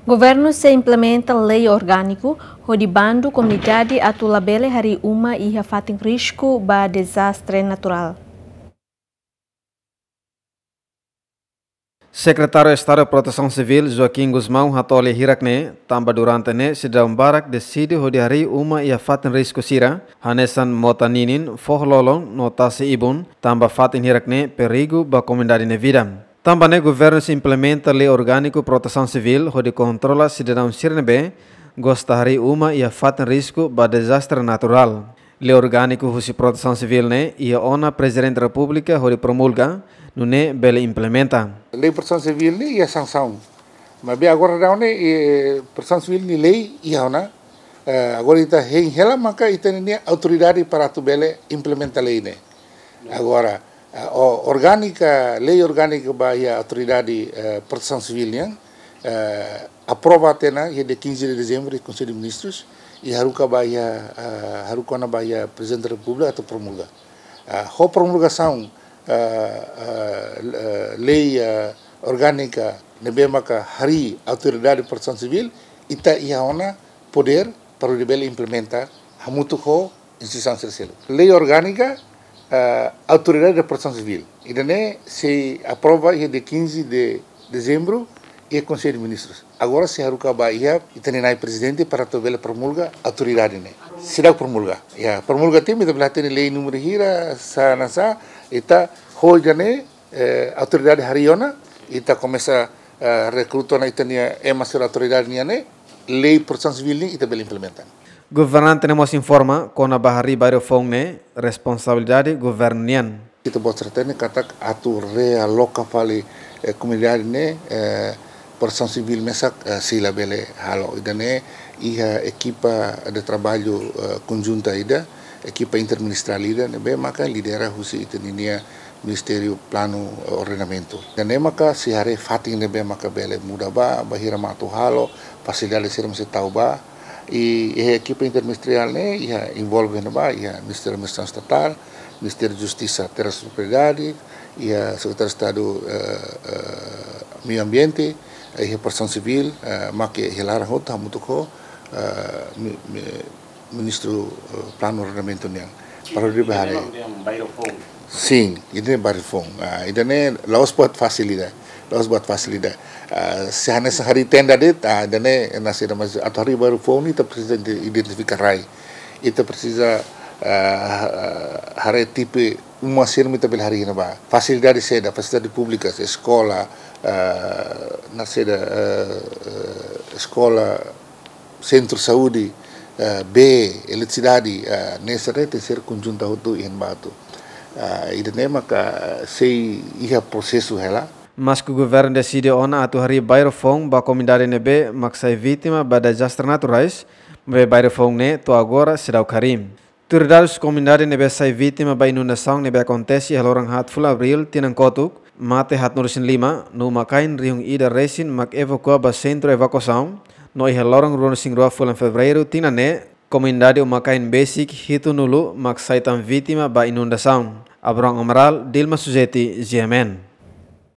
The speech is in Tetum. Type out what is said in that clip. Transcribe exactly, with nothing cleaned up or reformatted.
Governu sei implementa lei orgániku hodi bandu komunidade atu labele harii uma iha fatin risku ba dezastre naturál. Sekretáriu Estadu Protesaun Sivíl, Joaquim Gusmão, hato'o lia hirak ne'e, tanba durante ne'e sidadaun barak deside hodi harii uma iha fatin risku sira, hanesan mota ninin, foho-lolon no tasi-ibun, tanba fatin hirak ne'e perigu ba komunidade nia vida. Tanba ne'e governu sei implementa lei orgániku protesaun sivíl hodi kontrola sidadaun sira ne'ebé gosta harii uma iha fatin risku ba dezastre naturál. Lei orgániku husi protesaun sivíl ne'e iha ona Prezidente Repúblika hodi promulga, nune'e bele implementa. Lei protesaun sivíl ne'e iha sansaun. Maibé agora daudaun ne'e, eh, protesaun sivíl nia lei iha ona. Eh, agora ita hein hela maka ita-nia autoridade para atu bele implementa lei ne'e. Agora, eh, o-, orgánika, lei orgánika ba iha autoridade, eh, protesaun sivíl nian, eh, aprova tiha ona iha dia quinze de dezembro iha Konsellu Ministrus, i haruka ba iha, eh, haruka ona ba iha Prezidente Repúblika atu promulga. Eh, ho promulgasaun, eh, eh, eh, lei, eh, orgánika ne'ebé maka harii autoridade protesaun sivíl, ita iha ona podér para hodi bele implementa hamutuk ho instituisaun sira seluk. Lei orgánika, eh, autoridade de protesaun sivíl. Ida-ne'e sei aprova iha dia quinze de dezembro iha Konsellu Ministrus. Agora sei haruka ba iha ita-nia Na'i Prezidente para atu bele promulga autoridade ne'e. Seidauk promulga. Ya, promulga tiha mak ita bele hatene lei númeru hira, sá hanesan, ita ho ida-ne'e, eh, autoridade harii ona, ita komesa, eh, rekruta ona ita-nia ema sira autoridade nian ne'e, lei protesaun sivíl ne'e ita bele implementa. Governante ne'e mós informa kona-ba harii bairru foun ne'e responsabilidade governu nian. Ita-boot sira hatene katak atu realoka fali, eh, komunidade ne'e, eh, protesaun sivíl mesak, eh, sei labele halo. Ida-ne'e iha ekipa de traballu, eh, konjunta ida, ekipa interministeriál ida, ne'ebé maka lidera husi ita-nia Ministériu Planu, eh, Ordenamentu. Ida-ne'e maka sei haree fatin ne'ebé maka bele muda ba, bainhira mak atu halo, fasilidade sira mak sei tau ba. I, i ekipa interministeriál ne'e iha envolve ona ba, iha Ministériu Administrasaun Estatál, Ministériu Justisa Terras Propriedade, iha Sekretáriu Estadu, eh, eh, Meiu Ambiente, iha Protesaun Sivíl, eh, mak iha laran hotu hamutuk ho, eh, mi-, mi-, Ministru, eh, Planu Ordenamentu nian. Para hodi bele haree. Sin, ida-ne'e bairru foun. Ah, ida-ne'e la'ós buat fasil ida. La'ós buat fasil ida. Ah, se hanesan harii tenda de'it, ah, ida-ne'e nasaida, mas atu harii bairru foun ne'e ita presiza ide-, identifika rai. Ita presiza, ah, haree tipe uma sira mak ita bele harii iha ne'ebá. Fasilidade saida, fasilidade públika, eskola, ah, nasaida, eh, eh, eskola, sentru saúde, eh, bee, eletrisidade, eh, ne'e sira tenke ser konjunta hotu iha ne'ebá atu. Eh, ida-ne'e maka sei iha prosesu hela. Maske governu deside ona atu harii bairru foun ba komunidade ne'ebé mak sai vítima ba dezastre naturais, maibé bairru foun ne'e to'o agora seidauk harii. Tuir dadus, komunidade ne'ebé sai vítima ba inundasaun ne'ebé akontese iha loron haat fulan Abríl tinan kotuk, mate haatnulu-resin-lima, no uma-kain rihun ida resin mak evakua ba sentru evakuasaun, no iha loron ruanulu-resin-rua fulan Fevereiru tinan ne'e, komunidade uma-kain besik hitunulu mak sai tan vítima ba inundasaun. Abrão Amaral, Dilma Suzeti, G M N.